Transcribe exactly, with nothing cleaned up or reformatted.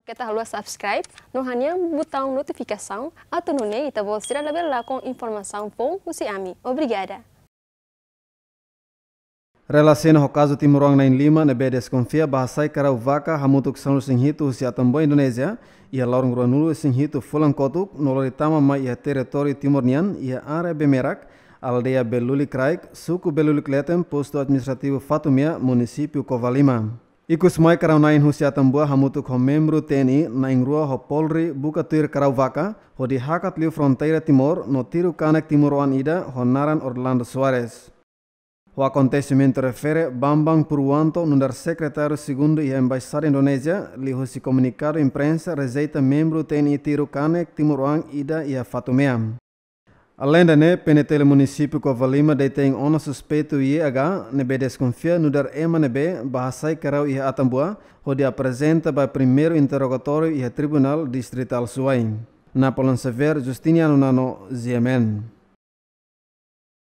Keta haluha subscribe no hanehan butaun notifikasaun atu nune'e ita-boot sira labele lakon informasaun foun husi ami. Obrigada. Relasaun ho kazu timoroan na'in-lima ne'ebé deskonfia bá hasai karau vaka hamutuk sanulu-resin-hitu husi Atambua, Indonézia, iha loron ruanulu-resin-hitu fulan kotuk no lori tama mai iha territóriu Timor nian, iha área Bemerak, aldeia Belulik Raik, suku Belulik Leten, postu administrativu Fatumea, munisípiu Covalima. Ikus mai karau-na'in husi Atambua hamutuk ho membru T N I na'in-rua ho Polri buka tuir karau vaka, hodi hakat liu fronteira Timor no tiru kanek timoroan ida ho naran Orlando Soares. Ho akontesimentu refere, Bambang Purwanto, nu'udar sekretáriu segundu iha Embaixada Indonézia, liuhusi komunikadu imprensa rejeita membru T N I tiru kanek timoroan ida iha Fatumea. Aleinde ne'e, P N T L munisípiu Covalima detein ona suspeitu Y H ne'ebé deskonfia nu'udar ema ne'ebé bá hasai karau iha Atambua, hodi aprezenta ba primeiru interrogatóriu iha Tribunál Distritál Suai. Napoleon Xavier, Justiniano Nano, G M N.